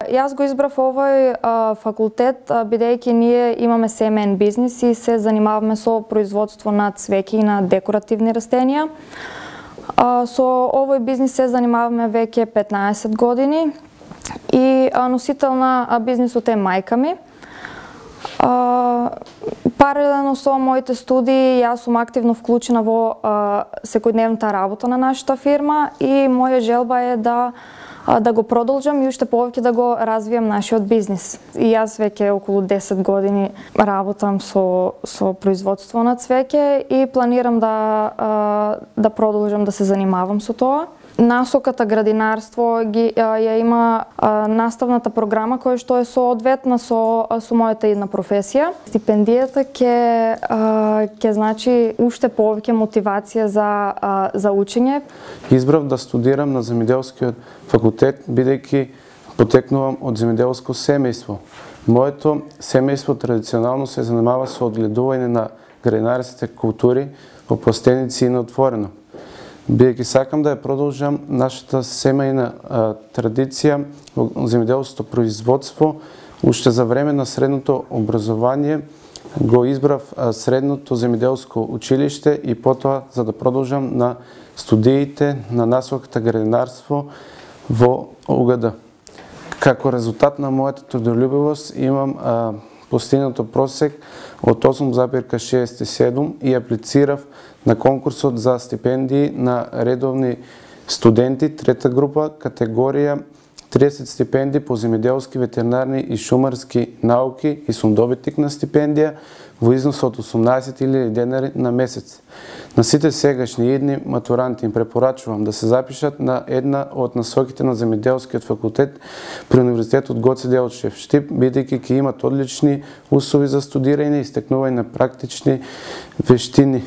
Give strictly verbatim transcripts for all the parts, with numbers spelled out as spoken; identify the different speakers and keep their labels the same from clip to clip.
Speaker 1: Јас го избрав овој а, факултет бидејќи ние имаме семеен бизнис и се занимаваме со производство на цвеќе и на декоративни растенија. А, со овој бизнис се занимаваме веќе петнаесет години и а, носител на бизнисот е мајка ми. А, паралелно со моите студии, јас сум активно вклучена во а, секојдневната работа на нашата фирма и моја желба е да да го продолжам и уште повеќе да го развијам нашиот бизнис. И јас веќе околу десет години работам со со производство на цвеќе и планирам да да продолжам да се занимавам со тоа. Насоката градинарство ги ја има а, наставната програма која што е соодветна со со мојата една професија. Стипендијата ќе ќе значи уште повеќе мотивација за а, за учење.
Speaker 2: Избрав да студирам на земјоделскиот факултет бидејќи потекнувам од земјоделско семејство. Моето семејство традиционално се занимава со одгледување на градинарските култури во пластеници и на отворено. Бидејќи сакам да ја продолжам нашата семејна а, традиција во земјоделското производство, уште за време на средното образование го избрав а, средното земјоделско училиште и потоа за да продолжам на студиите на насоката градинарство во У Г Д. Како резултат на мојата трудолюбивост имам а, постигнато просек од осум запирка шеесет и седум и аплицирав на конкурсот за стипендии на редовни студенти, трета група, категорија триесет стипендии по земјоделски, ветеринарни и шумарски науки и сум добитник на стипендија во износ од осумнаесет илјади денари на месец. На сите сегашни идни матуранти им препорачувам да се запишат на една од насоките на земјоделскиот факултет при Универзитетот Гоце Делчев Штип, бидејќи ќе имат одлични услови за студирање и стекнување на практични вештини.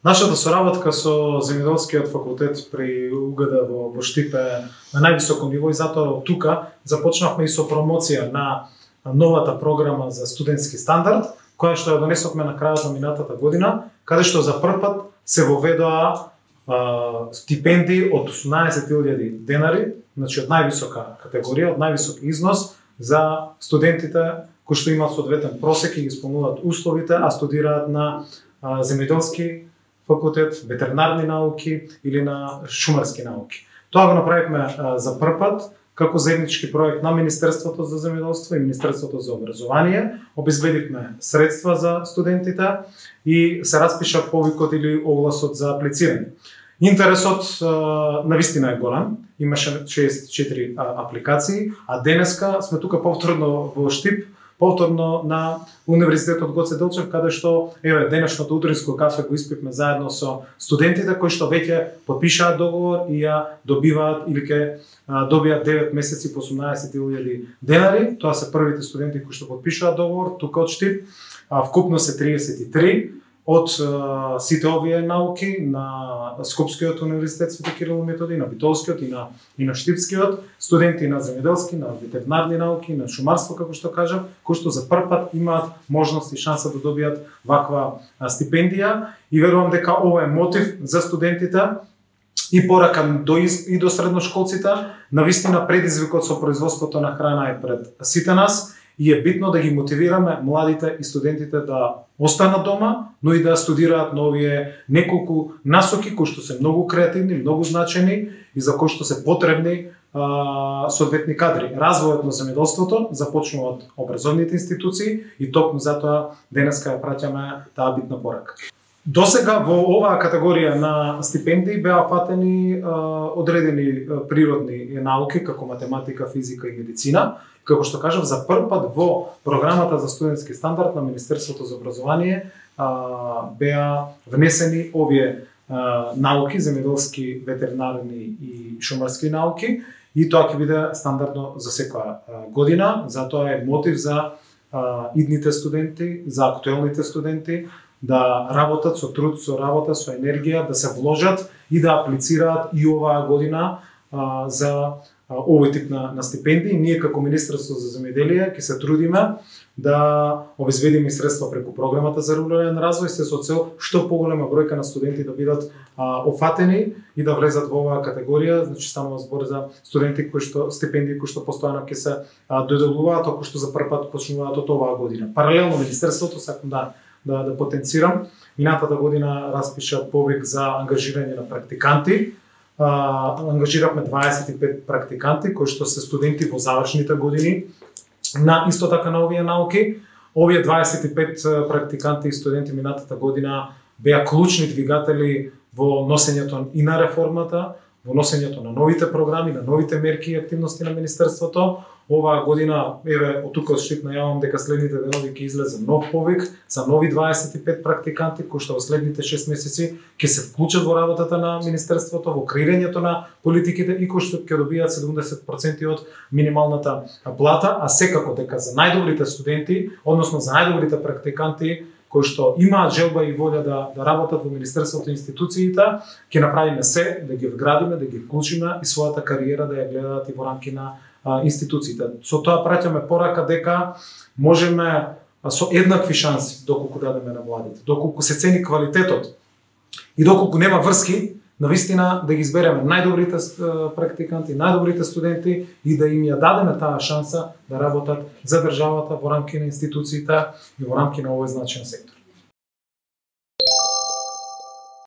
Speaker 3: Нашата соработка со земјоделскиот факултет при У Г Д во, во Штип е на највисоко ниво и затоа од тука започнавме и со промоција на новата програма за студентски стандард, која што ја донесовме на крајот на минатата година, каде што за прв пат се воведоа а, стипендии од осумнаесет илјади денари, значи од највисока категорија, од највисок износ за студентите кои што имаат соодветен просек и ги исполнуваат условите, а студираат на а, земјоделски факултет, ветеринарни науки или на шумарски науки. Тоа го направивме а, за прв пат како заеднички проект на Министерството за земјоделство и Министерството за образование. Обезбедивме средства за студентите и се распиша повикот или огласот за аплицирање. Интересот а, навистина е голем, имаше шеесет и четири а, апликации, а денеска сме тука повторно во Штип, повторно на Универзитетот Гоце Делчев, каде што еве денешното утринско кафе го испивме заедно со студентите кои што веќе подпишаат договор и ја добиваат или ќе добијат девет месеци по осумнаесет илјади денари. Тоа се првите студенти кои што подпишаат договор тука од Штип. Вкупно се триесет и три од сите овие науки на Скопскиот универзитет Свети Кирил и Методи, на Битолскиот и на и на Штипскиот, студенти на земјоделски, на ветеринарни науки, на шумарство како што кажав, кои што за прв пат имаат можност и шанса да добијат ваква стипендија и верувам дека ова е мотив за студентите и порака до и до средношколците. Навистина предизвикот со производството на храна е пред сите нас и е битно да ги мотивираме младите и студентите да останат дома, но и да студираат новие неколку насоки кои што се многу креативни, многу значени и за кои што се потребни а, соодветни кадри. Развојот на земјоделството започнува од образовните институции и токму затоа денеска ја праќаме таа битна порака. Досега во оваа категорија на стипендии беа фатени а, одредени а, природни науки како математика, физика и медицина. Како што кажав, за прв пат во програмата за студентски стандард на Министерството за образование а, беа внесени овие а, науки, земјоделски, ветеринарни и шумарски науки и тоа ќе биде стандардно за секоја година. Затоа е мотив за а, идните студенти, за актуелните студенти да работат со труд, со работа, со енергија, да се вложат и да аплицираат и оваа година а, за овој тип на, на стипендии. Ние како Министерство за земјоделие ќе се трудиме да обезбедиме средства преку програмата за рурален развој, се со цел што поголема бројка на студенти да бидат а, офатени и да влезат во оваа категорија. Значи станува збор за студенти кои што стипендии кои што постојано ќе се а, доделуваат, ако што за прв пат почнуваат од оваа година. Паралелно Министерството, сакам да да, да потенцирам, минатата година распиша повик за ангажирање на практиканти. А, ангажиравме дваесет и пет практиканти кои што се студенти во завршните години на исто така на овие науки. Овие дваесет и пет практиканти и студенти минатата година беа клучни двигатели во носењето и на реформата, во носењето на новите програми, на новите мерки и активности на Министерството. Оваа година, еве, од тука од Штип најавам дека следните денови ќе излезе нов повик за нови дваесет и пет практиканти кои што во следните шест месеци ќе се вклучат во работата на Министерството, во креирањето на политиките и кои што ќе добијат седумдесет проценти од минималната плата, а секако дека за најдобрите студенти, односно за најдобрите практиканти кои што имаат желба и волја да, да работат во Министерството и институциите, ќе направиме се да ги вградиме, да ги вклучиме и својата кариера да ја гледаат и во рамки на а, институциите. Со тоа праќаме порака дека можеме а, со еднакви шанси, доколку дадеме на младите, доколку се цени квалитетот и доколку нема врски, навистина да ги избереме најдобрите практиканти, најдобрите студенти и да им ја дадеме таа шанса да работат за државата во рамки на институциите и во рамки на овој значаен сектор.